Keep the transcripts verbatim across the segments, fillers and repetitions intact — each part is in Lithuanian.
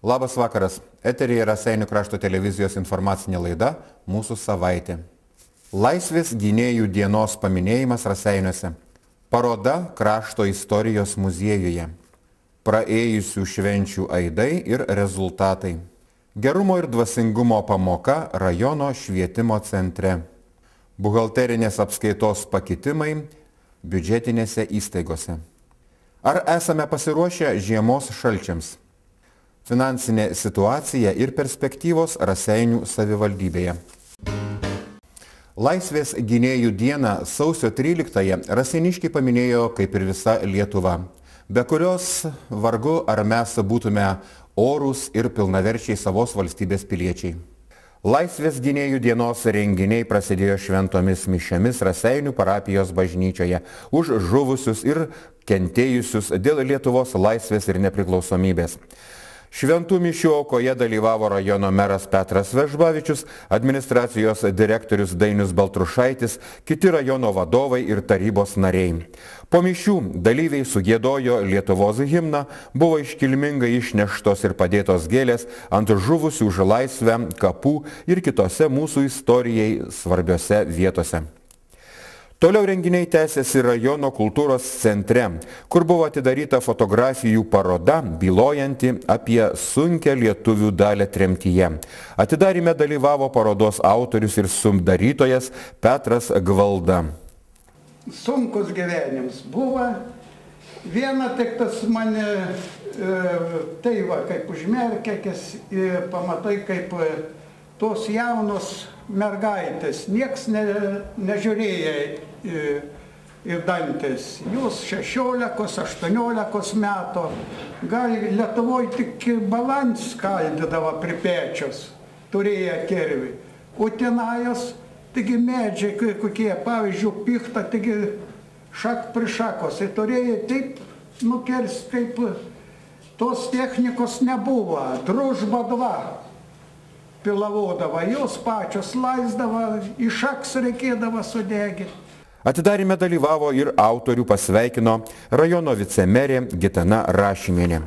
Labas vakaras. Eteryje Raseinių krašto televizijos informacinė laida Mūsų savaitė. Laisvės gynėjų dienos paminėjimas Raseiniuose. Paroda Krašto istorijos muziejuje. Praėjusių švenčių aidai ir rezultatai. Gerumo ir dvasingumo pamoka rajono švietimo centre. Buhalterinės apskaitos pakitimai biudžetinėse įstaigose. Ar esame pasiruošę žiemos šalčiams? Finansinė situacija ir perspektyvos Raseinių savivaldybėje. Laisvės gynėjų dieną sausio tryliktąją raseiniškiai paminėjo kaip ir visa Lietuva, be kurios vargu ar mes būtume orūs ir pilnaverčiai savos valstybės piliečiai. Laisvės gynėjų dienos renginiai prasidėjo šventomis mišiomis Raseinių parapijos bažnyčioje už žuvusius ir kentėjusius dėl Lietuvos laisvės ir nepriklausomybės. Šventų mišių aukoje dalyvavo rajono meras Petras Vežbavičius, administracijos direktorius Dainius Baltrušaitis, kiti rajono vadovai ir tarybos nariai. Po mišių dalyviai sugiedojo Lietuvos himną, buvo iškilmingai išneštos ir padėtos gėlės ant žuvusių už laisvę kapų ir kitose mūsų istorijai svarbiose vietose. Toliau renginiai tęsiasi rajono kultūros centre, kur buvo atidaryta fotografijų paroda, bylojanti apie sunkią lietuvių dalę tremtyje. Atidaryme dalyvavo parodos autorius ir sudarytojas Petras Gvalda. Sunkus gyvenims buvo. Viena tik tas mane, e, tai va, kaip užmerkėkis, e, pamatai kaip tos jaunos mergaitės, nieks ne, nežiūrėjo į, į dantis. Jūs šešiolikos, aštuoniolikos metų, gal Lietuvoje tik balans skaldydavo pripėčius, turėjo kirvį. Utenajos, taigi medžiai kokie, pavyzdžiui, pichta, taigi šak prišakos. Ir turėjo taip nukirsti, kaip tos technikos nebuvo. Družba dva. Pilavodavo, jos pačios laisdavo, iš šaks reikėdavo sudegti. Atidaryme dalyvavo ir autorių pasveikino rajono vicemerė Gitana Rašimienė.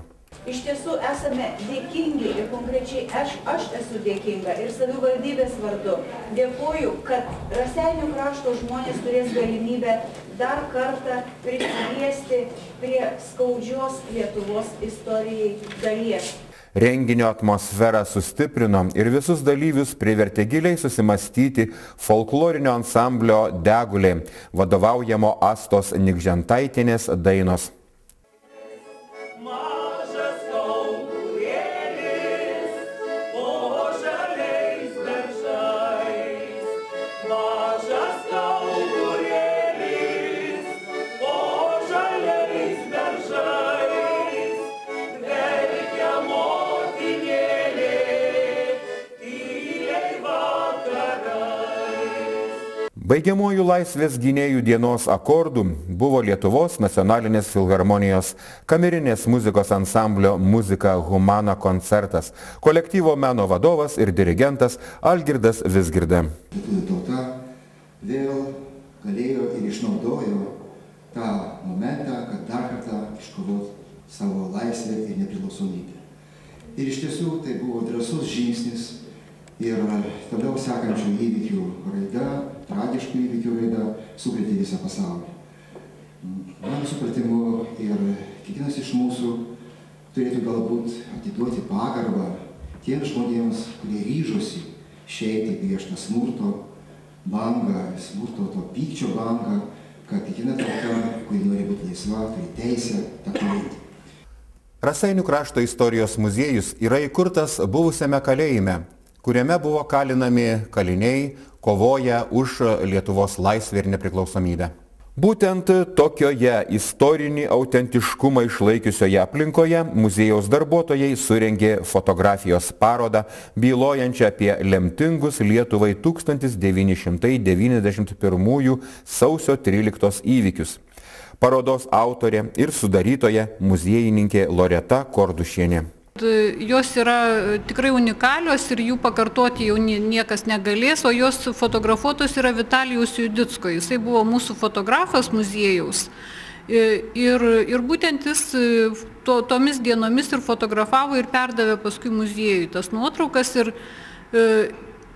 Iš tiesų esame dėkingi ir konkrečiai aš, aš esu dėkinga ir savivaldybės vardu. Dėkuoju, kad Raseinių krašto žmonės turės galimybę dar kartą prisiliesti prie skaudžios Lietuvos istorijai dalies. Renginio atmosferą sustiprino ir visus dalyvius privertė giliai susimastyti folklorinio ansamblio Degulė, vadovaujamo Astos Nikžentaitienės dainos. Baigiamųjų Laisvės gynėjų dienos akordų buvo Lietuvos nacionalinės filharmonijos kamerinės muzikos ansamblio Muzika Humana koncertas, kolektyvo meno vadovas ir dirigentas Algirdas Vizgirda. Lietuvių tauta vėl galėjo ir išnaudojo tą momentą, kad dar kartą iškovot savo laisvę ir nepriklausomybę. Ir iš tiesų tai buvo drąsus žingsnis ir toliau sekančių įvykių raida, tragiškų įvykių raida sukrėtė visą pasaulį. Mano supratimu ir kiekvienas iš mūsų turėtų galbūt atiduoti pagarbą tiems žmonėms, kurie ryžosi išeiti prieš tą smurto bangą, smurto to pykčio bangą, kad kiekviena tauta, kuri nori būti laisva, turi teisę tą padaryti. Raseinių krašto istorijos muziejus yra įkurtas buvusiame kalėjime, kuriame buvo kalinami kaliniai, kovoja už Lietuvos laisvę ir nepriklausomybę. Būtent tokioje istorinį autentiškumą išlaikiusioje aplinkoje muziejaus darbuotojai surengė fotografijos parodą, bylojančią apie lemtingus Lietuvai tūkstantis devyni šimtai devyniasdešimt pirmųjų sausio tryliktos įvykius. Parodos autorė ir sudarytoja muziejininkė Loreta Kordušienė. Jos yra tikrai unikalios ir jų pakartoti jau niekas negalės, o jos fotografuotos yra Vitalijaus Judicko. Jisai buvo mūsų fotografas muziejaus Ir, ir būtent jis to, tomis dienomis ir fotografavo ir perdavė paskui muziejui tas nuotraukas. Ir,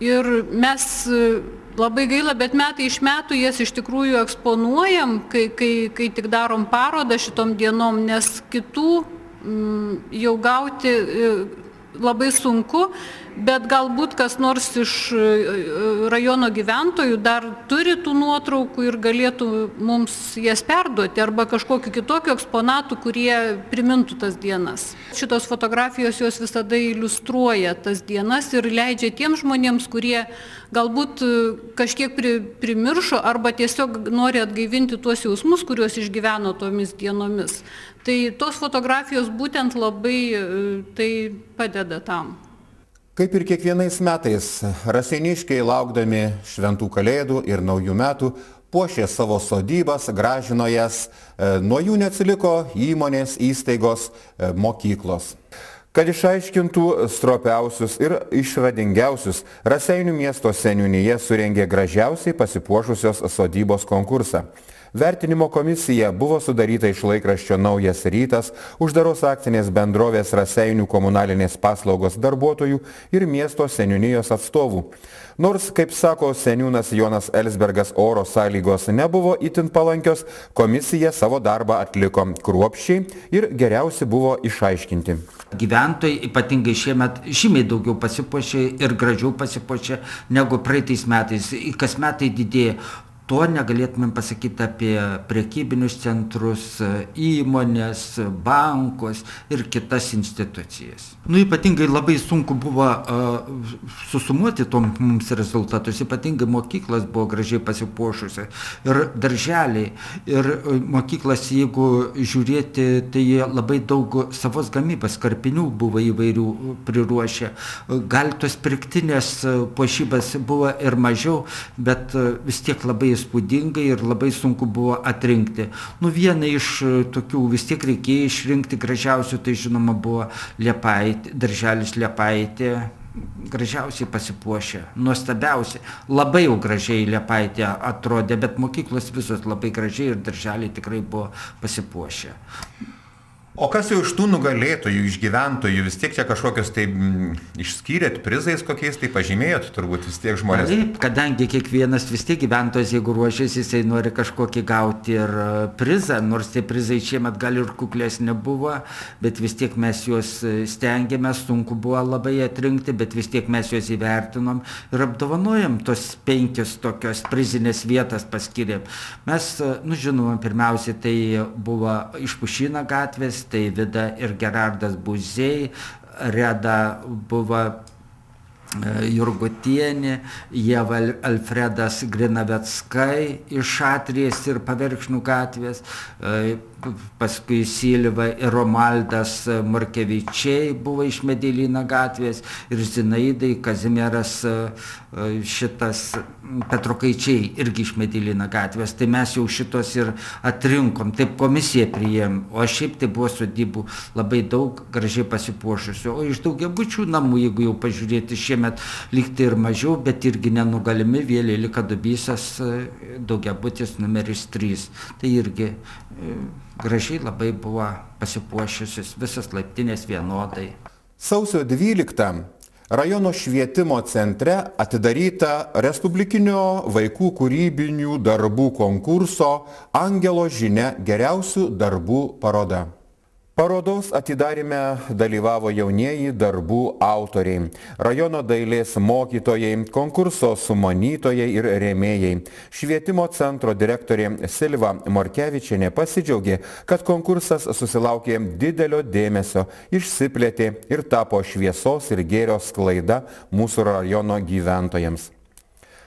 ir mes labai gaila, bet metai iš metų jas iš tikrųjų eksponuojam, kai, kai, kai tik darom parodą šitom dienom, nes kitų m, jau gauti labai sunku, bet galbūt kas nors iš rajono gyventojų dar turi tų nuotraukų ir galėtų mums jas perduoti arba kažkokiu kitokiu eksponatu, kurie primintų tas dienas. Šitos fotografijos jos visada iliustruoja tas dienas ir leidžia tiems žmonėms, kurie galbūt kažkiek pri, primiršo arba tiesiog nori atgaivinti tuos jausmus, kuriuos išgyveno tomis dienomis. Tai tos fotografijos būtent labai tai padeda tam. Kaip ir kiekvienais metais, raseiniškiai laukdami šventų kalėdų ir naujų metų puošė savo sodybas, gražino jas, nuo jų neatsiliko įmonės, įstaigos, mokyklos. Kad išaiškintų stropiausius ir išradingiausius, Raseinių miesto seniūnija surengė gražiausiai pasipuošusios sodybos konkursą. Vertinimo komisija buvo sudaryta iš laikraščio Naujas rytas, uždaros akcinės bendrovės Raseinių komunalinės paslaugos darbuotojų ir miesto seniūnijos atstovų. Nors, kaip sako seniūnas Jonas Elsbergas, oro sąlygos nebuvo itin palankios, komisija savo darbą atliko kruopščiai ir geriausi buvo išaiškinti. Gyventojai ypatingai šiemet žymiai daugiau pasipuošė ir gražiau pasipuošė negu praeitais metais. Kas metai didėja. To negalėtumėm pasakyti apie prekybinius centrus, įmonės, bankus ir kitas institucijas. Nu, ypatingai labai sunku buvo uh, susumuoti tom mums rezultatus, ypatingai mokyklas buvo gražiai pasipuošusi ir darželiai. Ir mokyklas, jeigu žiūrėti, tai labai daug savos gamybos, karpinių buvo įvairių priruošę. Gal tos pirktinės puošybas buvo ir mažiau, bet vis tiek labai įspūdingai ir labai sunku buvo atrinkti. Nu, viena iš tokių vis tiek reikėjo išrinkti gražiausių, tai žinoma buvo Liepaitė, darželis Liepaitė, gražiausiai pasipuošė, nuostabiausiai. Labai jau gražiai Liepaitė atrodė, bet mokyklos visos labai gražiai ir darželiai tikrai buvo pasipuošę. O kas jau iš tų nugalėtojų, iš gyventojų, vis tiek čia kažkokios tai m, išskyrėt prizais kokiais, tai pažymėjot turbūt vis tiek žmonės? Taip, kadangi kiekvienas vis tiek gyventojas, jeigu ruošiasi, jisai nori kažkokį gauti ir prizą, nors tie prizai šiemet gal ir kuklesnė buvo, bet vis tiek mes juos stengiamės, sunku buvo labai atrinkti, bet vis tiek mes juos įvertinom ir apdovanojom tos penkios tokios prizinės vietas paskirėm. Mes, nu žinoma, pirmiausia, tai buvo iš Pušyno gatvės, tai Vida ir Gerardas Buziai, Reda buvo Jurgutienė, Ieva Alfredas Grinaveckai iš Šatrijos ir Paverkšnių gatvės, paskui Silva ir Romaldas Markevičiai buvo iš Medelyno gatvės ir Zinaidai Kazimieras šitas Petrukaičiai irgi iš Medelyno gatvės. Tai mes jau šitos ir atrinkom, taip komisija priėm, o šiaip tai buvo sodybų labai daug gražiai pasipuošusių. O iš daugiabučių namų, jeigu jau pažiūrėti, šiemet lygtai ir mažiau, bet irgi nenugalimi, vėliai Lika Dubysas daugiabutis numeris trys. Tai irgi gražiai labai buvo pasipuošusios visas laiptinės vienodai. Sausio dvyliktą rajono švietimo centre atidaryta Respublikinio vaikų kūrybinių darbų konkurso Angelo žinia geriausių darbų paroda. Parodos atidaryme dalyvavo jaunieji darbų autoriai, rajono dailės mokytojai, konkurso sumanytojai ir rėmėjai. Švietimo centro direktorė Silva Morkevičienė pasidžiaugė, kad konkursas susilaukė didelio dėmesio, išsiplėtė ir tapo šviesos ir gėrio sklaida mūsų rajono gyventojams.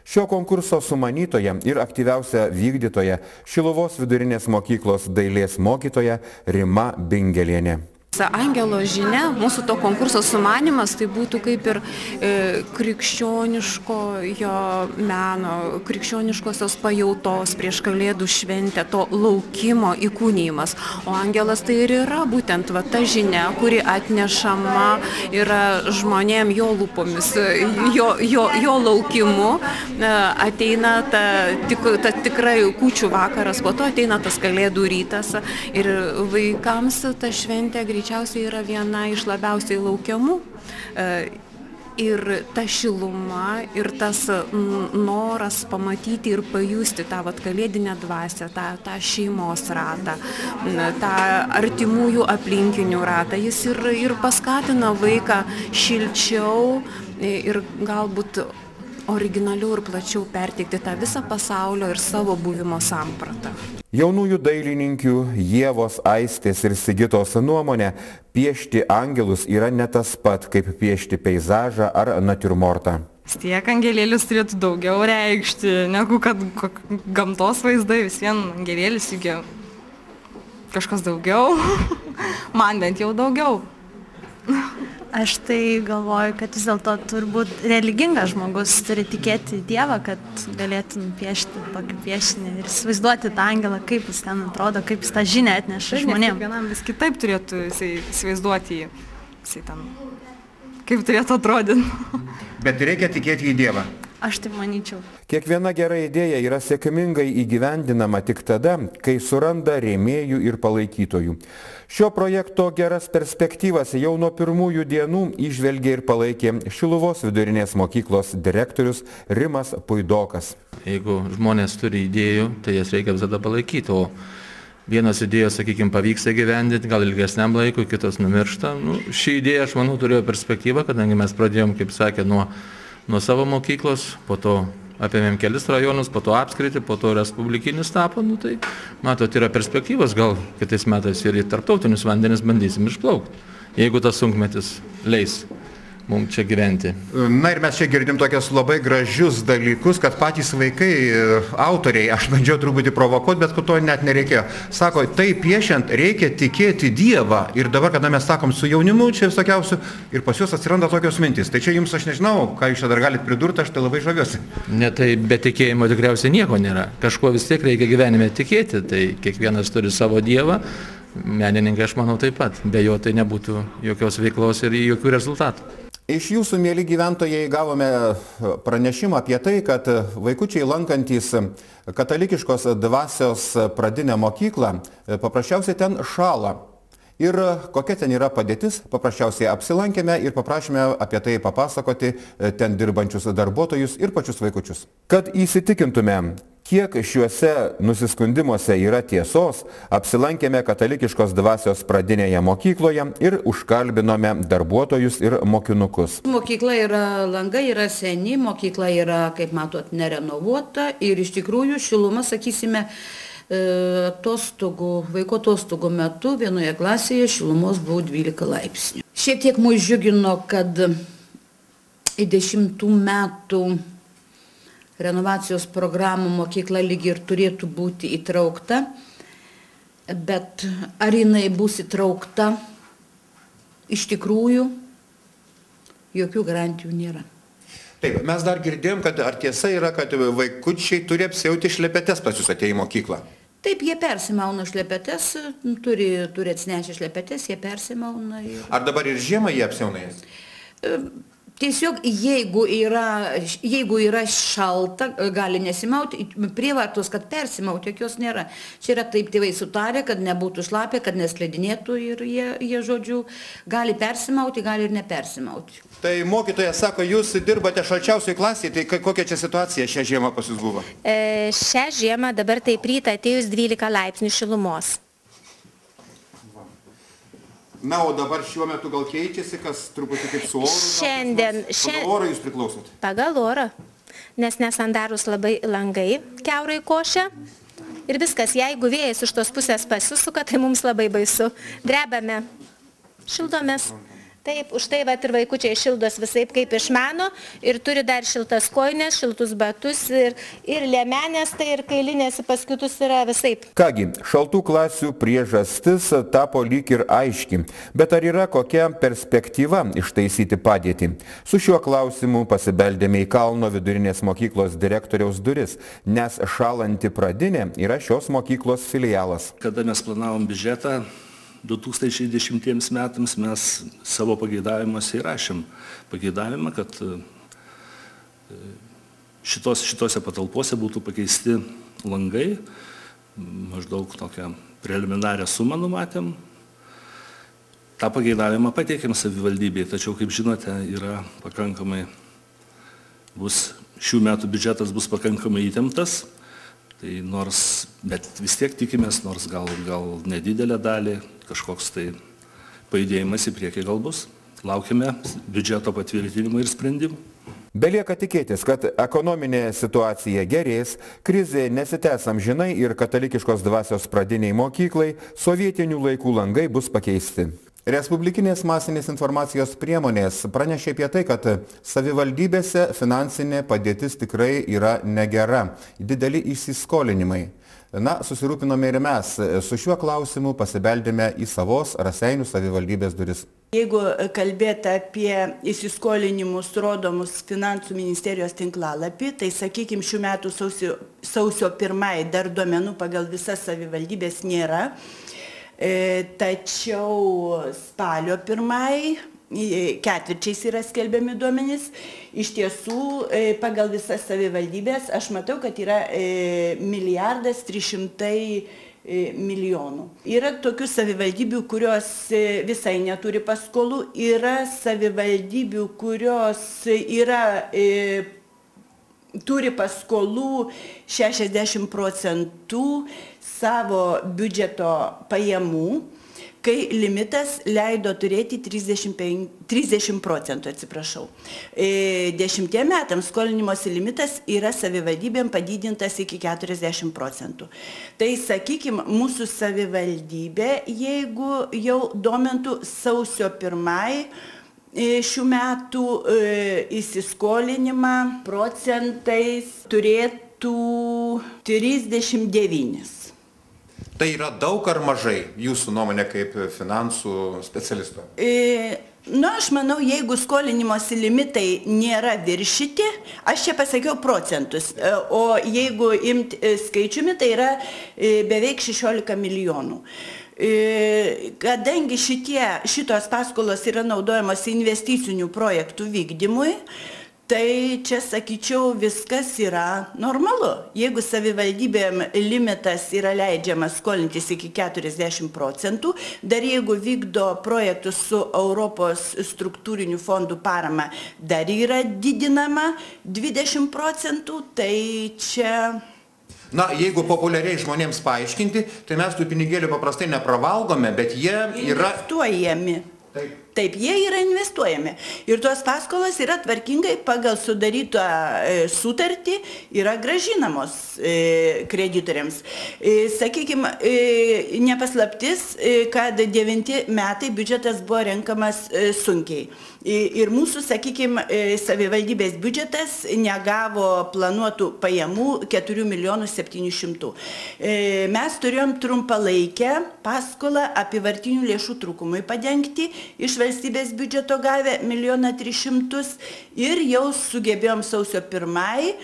Šio konkurso sumanytoja ir aktyviausia vykdytoja Šiluvos vidurinės mokyklos dailės mokytoja Rima Bingelienė. Angelo žinia, mūsų to konkurso sumanimas, tai būtų kaip ir e, krikščioniško jo meno, krikščioniškosios pajautos prieš Kalėdų šventę, to laukimo įkūnijimas. O angelas tai ir yra būtent va, ta žinia, kuri atnešama yra žmonėm jo lūpomis, jo, jo, jo laukimu. E, ateina ta, tik, ta tikrai kūčių vakaras, po to ateina tas Kalėdų rytas ir vaikams ta šventė greičiausiai yra viena iš labiausiai laukiamų. Ir ta šiluma, ir tas noras pamatyti ir pajusti tą vat, kalėdinę dvasią, tą, tą šeimos ratą, tą artimųjų aplinkinių ratą, jis ir, ir paskatina vaiką šilčiau ir galbūt originaliau ir plačiau perteikti tą visą pasaulio ir savo buvimo sampratą. Jaunųjų dailininkių Ievos, Aistės ir Sigitos nuomonė, piešti angelus yra ne tas pat, kaip piešti peizažą ar natiurmortą. Tiek angelėlis turėtų daugiau reikšti, negu kad gamtos vaizdai, vis vien angelėlis įgia kažkas daugiau, man bent jau daugiau. Aš tai galvoju, kad vis dėlto turbūt religingas žmogus turi tikėti į Dievą, kad galėtų nupiešti tokį piešinį ir įsivaizduoti tą angelą, kaip jis ten atrodo, kaip jis tą žinią atneša žmonėms. Kiekvienam vis kitaip turėtų įsivaizduoti jį, jisai ten, kaip turėtų atrodyti. Bet reikia tikėti į Dievą. Aš taip manyčiau. Kiekviena gera idėja yra sėkmingai įgyvendinama tik tada, kai suranda rėmėjų ir palaikytojų. Šio projekto geras perspektyvas jau nuo pirmųjų dienų įžvelgė ir palaikė Šiluvos vidurinės mokyklos direktorius Rimas Puidokas. Jeigu žmonės turi idėjų, tai jas reikia visada palaikyti, o vienos idėjos, sakykime, pavyksta gyvendinti, gal ilgesniam laikui, kitos numiršta. Nu, ši idėja, aš manau, turėjo perspektyvą, kadangi mes pradėjom, kaip sakė, nuo nuo savo mokyklos, po to apėmėm kelis rajonus, po to apskritį, po to respublikinis tapo, nu tai, matot, yra perspektyvos, gal kitais metais ir į tarptautinius vandenis bandysim išplaukti, jeigu tas sunkmetis leis mums čia gyventi. Na ir mes čia girdim tokias labai gražius dalykus, kad patys vaikai, autoriai, aš bandžiau truputį provokuoti, bet to net nereikėjo. Sako, tai piešiant reikia tikėti Dievą. Ir dabar, kada mes sakom su jaunimu, čia visokiausių, ir pas juos atsiranda tokios mintys. Tai čia jums, aš nežinau, ką jūs čia dar galite pridurti, aš tai labai žaviuosi. Ne, tai be tikėjimo tikriausiai nieko nėra. Kažko vis tiek reikia gyvenime tikėti, tai kiekvienas turi savo Dievą. Menininkai, aš manau, taip pat. Be jo tai nebūtų jokios veiklos ir jokių rezultatų. Iš jūsų, mėly gyventojai, gavome pranešimą apie tai, kad vaikučiai lankantys katalikiškos dvasios pradinę mokyklą paprasčiausiai ten šąla. Ir kokia ten yra padėtis, paprasčiausiai apsilankėme ir paprašėme apie tai papasakoti ten dirbančius darbuotojus ir pačius vaikučius. Kad įsitikintume, kiek šiuose nusiskundimuose yra tiesos, apsilankėme katalikiškos dvasios pradinėje mokykloje ir užkalbinome darbuotojus ir mokinukus. Mokykla yra, langai yra seni, mokykla yra, kaip matot, nerenovuota ir iš tikrųjų šiluma, sakysime, atostogų, vaiko atostogų metu vienoje klasėje šilumos buvo dvylika laipsnių. Šiek tiek mus džiugino, kad į dešimtų metų renovacijos programų mokykla lyg ir turėtų būti įtraukta, bet ar jinai bus įtraukta, iš tikrųjų jokių garantijų nėra. Taip, mes dar girdėjom, kad ar tiesa yra, kad vaikučiai turi apsiauti šlepetes pas jūs atėję į mokyklą? Taip, jie persimauna šlepetes, turi, turi atsinešę šlepetes, jie persimauna. Ir... Ar dabar ir žiemą jie apsiauna jas? Tiesiog, jeigu yra, jeigu yra šalta, gali nesimauti, prievartos, kad persimauti, jokios nėra. Čia yra taip tėvai sutarė, kad nebūtų šlapė, kad neslidinėtų ir jie, jie, žodžiu, gali persimauti, gali ir nepersimauti. Tai mokytojas sako, jūs dirbate šalčiausiai klasėje, tai kokia čia situacija šią žiemą pas jūs buvo? E, šią žiemą dabar taip rytą atėjus dvylika laipsnių šilumos. Na, o dabar šiuo metu gal keičiasi, kas truputį kaip su oru? Šiandien. Pagal orą jūs priklausot? Pagal orą, nes nesandarus labai langai, kiaurai košia. Ir viskas, jeigu vėjas iš tos pusės pasisuka, tai mums labai baisu. Drebame, šildomės. Taip, už tai vat ir vaikučiai šildos visaip kaip išmano ir turi dar šiltas kojines, šiltus batus ir, ir liemenės, tai ir kailinės pas kitus yra visaip. Kągi, šaltų klasių priežastis tapo lyg ir aiški, bet ar yra kokia perspektyva ištaisyti padėtį? Su šiuo klausimu pasibeldėme į Kalno vidurinės mokyklos direktoriaus duris, nes šalanti pradinė yra šios mokyklos filialas. Kada mes planavom biudžetą du tūkstančiai dešimtiems metams, mes savo pageidavimuose įrašėm pageidavimą, kad šitos, šitose patalpose būtų pakeisti langai, maždaug tokią preliminarią sumą numatėm. tą pageidavimą pateikėm savivaldybei, tačiau, kaip žinote, yra pakankamai, bus, šių metų biudžetas bus pakankamai įtemptas, tai nors, bet vis tiek tikimės, nors gal, gal nedidelę dalį, kažkoks tai pajudėjimas į priekį gal bus. Laukime biudžeto patvirtinimo ir sprendimų. Belieka tikėtis, kad ekonominė situacija gerės, krizė nesitęs amžinai ir katalikiškos dvasios pradiniai mokyklai sovietinių laikų langai bus pakeisti. Respublikinės masinės informacijos priemonės pranešė apie tai, kad savivaldybėse finansinė padėtis tikrai yra negera, dideli įsiskolinimai. Na, susirūpinome ir mes. Su šiuo klausimu pasibeldėme į savos Raseinių savivaldybės duris. Jeigu kalbėti apie įsiskolinimus rodomus Finansų ministerijos tinklalapį, tai, sakykime, šių metų sausio, sausio pirmai dar duomenų pagal visas savivaldybės nėra. E, tačiau spalio pirmai ketvirčiais yra skelbiami duomenys. Iš tiesų, e, pagal visas savivaldybės aš matau, kad yra e, milijardas trys šimtai milijonų. Yra tokių savivaldybių, kurios visai neturi paskolų, yra savivaldybių, kurios yra, e, turi paskolų šešiasdešimt procentų savo biudžeto pajamų, kai limitas leido turėti trisdešimt procentų, atsiprašau. Dešimtiem metams skolinimosi limitas yra savivaldybėm padidintas iki keturiasdešimt procentų. Tai, sakykime, mūsų savivaldybė, jeigu jau domintų sausio pirmai šių metų įsiskolinimą procentais turėtų trisdešimt devynis. Tai yra daug ar mažai, jūsų nuomonė kaip finansų specialisto? E, nu, aš manau, jeigu skolinimosi limitai nėra viršyti, aš čia pasakiau procentus, o jeigu imti skaičiumi, tai yra beveik šešiolika milijonų. E, kadangi šitie, šitos paskolos yra naudojamos investicinių projektų vykdymui, tai čia, sakyčiau, viskas yra normalu. Jeigu savivaldybėm limitas yra leidžiamas skolintis iki keturiasdešimt procentų, dar jeigu vykdo projektus su Europos struktūrinių fondų parama, dar yra didinama dvidešimt procentų, tai čia... Na, jeigu populiariai žmonėms paaiškinti, tai mes tų pinigėlių paprastai nepravalgome, bet jie yra... Investuojami. Taip. Taip, jie yra investuojami. Ir tos paskolos yra tvarkingai pagal sudarytą sutartį yra gražinamos kreditoriams. Sakykime, nepaslaptis, kad devinti metai biudžetas buvo renkamas sunkiai. Ir mūsų, sakykime, savivaldybės biudžetas negavo planuotų pajamų keturių milijonų septynių šimtų. Mes turėjom trumpalaikę paskolą apyvartinių lėšų trūkumui padengti, iš valstybės biudžeto gavę milijoną tris šimtus ir jau sugebėjom sausio pirmai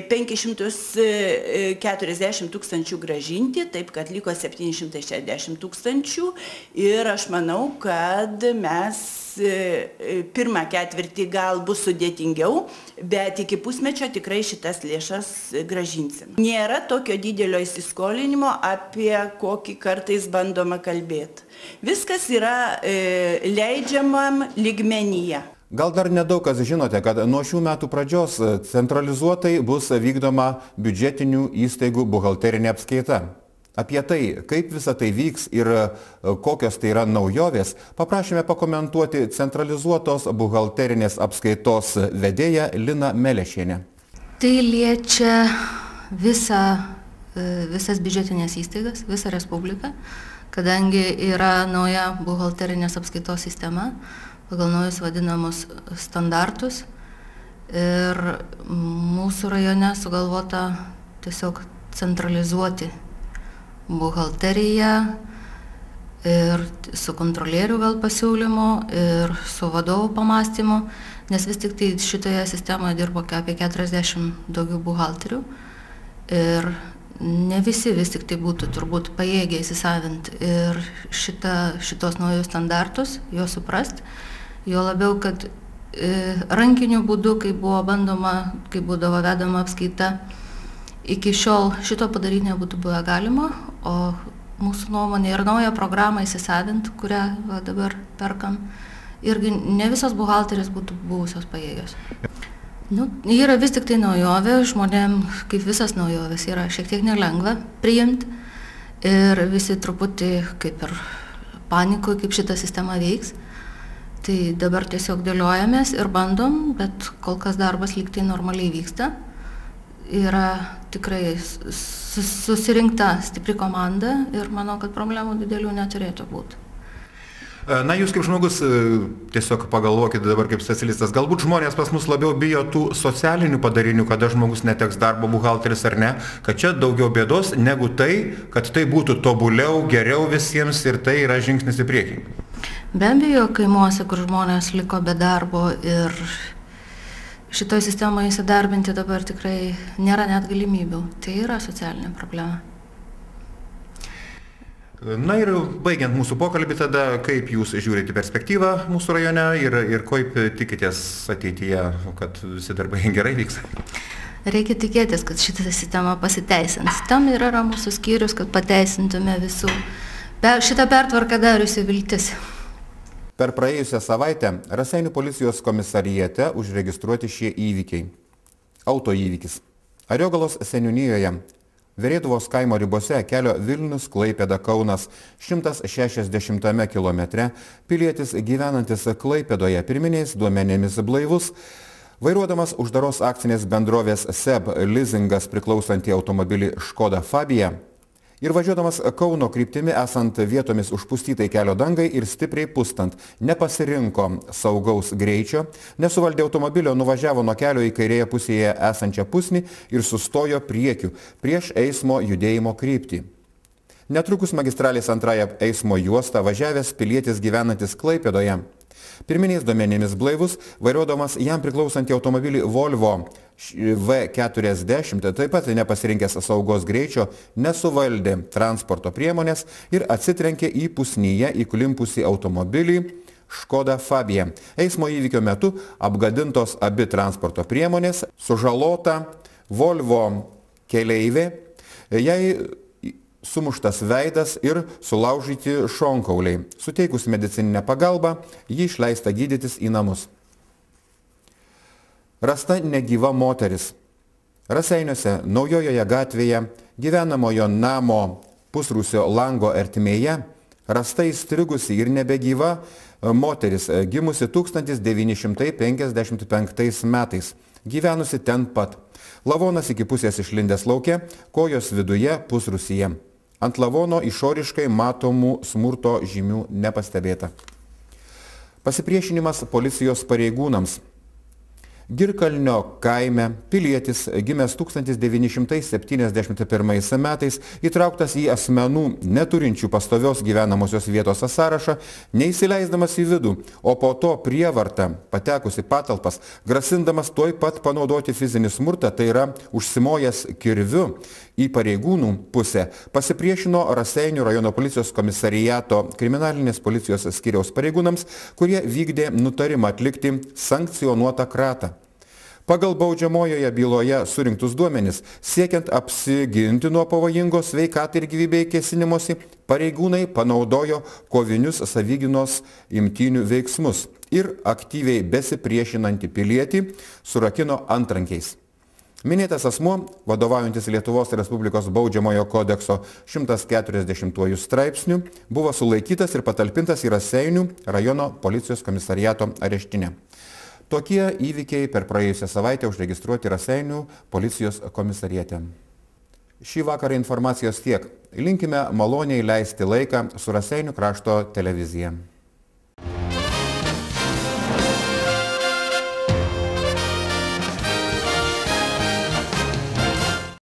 penkis šimtus keturiasdešimt tūkstančių gražinti, taip kad liko septyni šimtai šešiasdešimt tūkstančių ir aš manau, kad mes pirmą ketvirtį gal bus sudėtingiau, bet iki pusmečio tikrai šitas lėšas gražinsim. Nėra tokio didelio įsiskolinimo, apie kokį kartais bandoma kalbėti. Viskas yra e, leidžiamam lygmenyje. Gal dar nedaug kas žinote, kad nuo šių metų pradžios centralizuotai bus vykdoma biudžetinių įstaigų buhalterinė apskaita. Apie tai, kaip visa tai vyks ir kokios tai yra naujovės, paprašėme pakomentuoti centralizuotos buhalterinės apskaitos vedėją Liną Melešienę. Tai liečia visą, visas biudžetinės įstaigas, visą Respubliką, kadangi yra nauja buhalterinės apskaitos sistema, pagal naujus vadinamus standartus. Ir mūsų rajone sugalvota tiesiog centralizuoti buhalteriją ir su kontrolierių gal pasiūlymu ir su vadovų pamastymu, nes vis tik tai šitoje sistemoje dirbo apie keturiasdešimt daugiau buhalterių ir ne visi vis tik tai būtų turbūt pajėgę įsisavinti ir šita, šitos naujus standartus, juos suprast, jo labiau, kad e, rankiniu būdu, kai buvo bandoma, kai būdavo vedama apskaita, iki šiol šito padaryti nebūtų buvę galima, o mūsų nuomonė ir naują programą įsisavint, kurią va, dabar perkam, irgi ne visos buhalterės būtų buvusios pajėgios. Nu, yra vis tik tai naujovė, žmonėm, kaip visas naujovės, yra šiek tiek nelengva priimti ir visi truputį kaip ir panikoje, kaip šita sistema veiks. Tai dabar tiesiog dėliojamės ir bandom, bet kol kas darbas lyg tai normaliai vyksta. Yra tikrai susirinkta stipri komanda ir manau, kad problemų didelių neturėtų būti. Na, jūs kaip žmogus tiesiog pagalvokite dabar kaip specialistas, galbūt žmonės pas mus labiau bijo tų socialinių padarinių, kada žmogus neteks darbo, buhalteris ar ne, kad čia daugiau bėdos negu tai, kad tai būtų tobuliau, geriau visiems ir tai yra žingsnis į priekį. Be abejo, kaimuose, kur žmonės liko be darbo ir šitoje sistemoje įsidarbinti dabar tikrai nėra net galimybių. Tai yra socialinė problema. Na ir baigiant mūsų pokalbį tada, kaip jūs žiūrite perspektyvą mūsų rajone ir, ir kaip tikitės ateityje, kad visi darbai gerai vyks? Reikia tikėtis, kad šitą sistemą pasiteisins. Tam yra mūsų skyrius, kad pateisintume visų šitą pertvarką dariusi viltis. Per praėjusią savaitę Raseinių policijos komisarijate užregistruoti šie įvykiai. Autoįvykis. Ariogalos seniūnijoje Verėduvos kaimo ribose kelio Vilnius Klaipėda Kaunas šimtas šešiasdešimtame kilometre pilietis gyvenantis Klaipėdoje pirminiais duomenėmis blaivus, vairuodamas uždaros akcinės bendrovės S E B Leasingas priklausantį automobilį Škoda Fabia ir važiuodamas Kauno kryptimi esant vietomis užpustytai kelio dangai ir stipriai pustant, nepasirinko saugaus greičio, nesuvaldė automobilio, nuvažiavo nuo kelio į kairėje pusėje esančią pusnį ir sustojo priekiu prieš eismo judėjimo kryptį. Netrukus magistralės antrąją eismo juostą važiavęs pilietis gyvenantis Klaipėdoje, pirminiais duomenimis blaivus, vairuodamas jam priklausantį automobilį Volvo V keturiasdešimt, taip pat nepasirinkęs saugos greičio, nesuvaldė transporto priemonės ir atsitrenkė į pusnyje įklimpusį automobilį Škoda Fabia. Eismo įvykio metu apgadintos abi transporto priemonės, sužalota Volvo keleivė, jai sumuštas veidas ir sulaužyti šonkauliai. Suteikus medicininę pagalbą, ji išleista gydytis į namus. Rasta negyva moteris. Raseiniuose Naujojoje gatvėje gyvenamojo namo pusrūsio lango ertmėje rasta įstrigusi ir nebegyva moteris, gimusi tūkstantis devyni šimtai penkiasdešimt penktais metais, gyvenusi ten pat. Lavonas iki pusės išlindęs lauke, kojos viduje pusrūsyje. Ant lavono išoriškai matomų smurto žymių nepastebėta. Pasipriešinimas policijos pareigūnams. Girkalnio kaime pilietis gimęs tūkstantis devyni šimtai septyniasdešimt pirmais metais įtrauktas į asmenų neturinčių pastovios gyvenamosios vietos sąrašą, neįsileisdamas į vidų, o po to prievarta patekus į patalpas, grasindamas tuoj pat panaudoti fizinį smurtą, tai yra užsimojęs kirviu į pareigūnų pusę, pasipriešino Raseinių rajono policijos komisariato kriminalinės policijos skyriaus pareigūnams, kurie vykdė nutarimą atlikti sankcionuotą kratą. Pagal baudžiamojoje byloje surinktus duomenis, siekiant apsiginti nuo pavojingos sveikatai ir gyvybei kėsinimosi, pareigūnai panaudojo kovinius savigynos imtynių veiksmus ir aktyviai besipriešinantį pilietį surakino antrankiais. Minėtas asmuo, vadovaujantis Lietuvos Respublikos baudžiamojo kodekso šimtas keturiasdešimtuoju straipsniu, buvo sulaikytas ir patalpintas į Raseinių rajono policijos komisariato areštinę. Tokie įvykiai per praėjusią savaitę užregistruoti Raseinių policijos komisariate. Šį vakarą informacijos tiek. Linkime maloniai leisti laiką su Raseinių krašto televizija.